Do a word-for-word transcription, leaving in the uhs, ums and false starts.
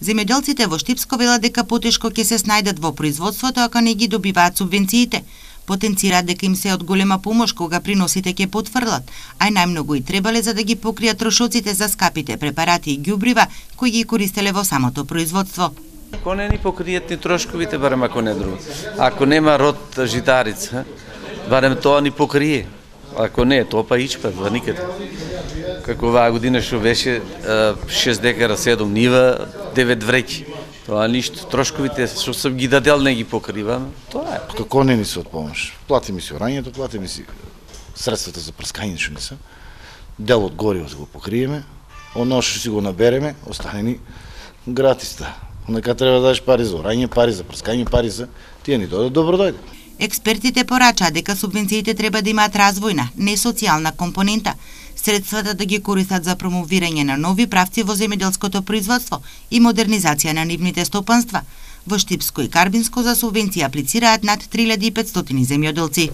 Земјоделците во Штипско велат дека потешко ќе се снајдат во производството ако не ги добиваат субвенциите. Потенцираат дека им се од голема помош кога приносите ќе потврлат, а најмногу и требале за да ги покријат трошоците за скапите препарати и ѓубрива кои ги користеле во самото производство. Ако не ни покријат ни трошковите, барем ако не друго. Ако нема род житарица, барем тоа ни покрие. Ако не, тоа па ичпа, ба никаде. Како оваа година што беше шест декара, седум нива, девет вреќи. Тоа ништо, трошковите што сум ги дадел не ги покривам, тоа е. Како не ни се од помош? Плати ми си орањето, плати ми си средствата за прскање што не се. Дел од гориво се го покриеме, оно што си го набереме, остане ни гратиста. Нека треба да дадеш пари за орање, пари за прскање, пари за тие ни дојде, добро дојде. Експертите порачаат дека субвенциите треба да имаат развојна, не социјална компонента. Средствата да ги користат за промовирање на нови правци во земјоделското производство и модернизација на нивните стопанства. Во Штипско и Карбинско за субвенција аплицираат над три илјади и петстотини земјоделци.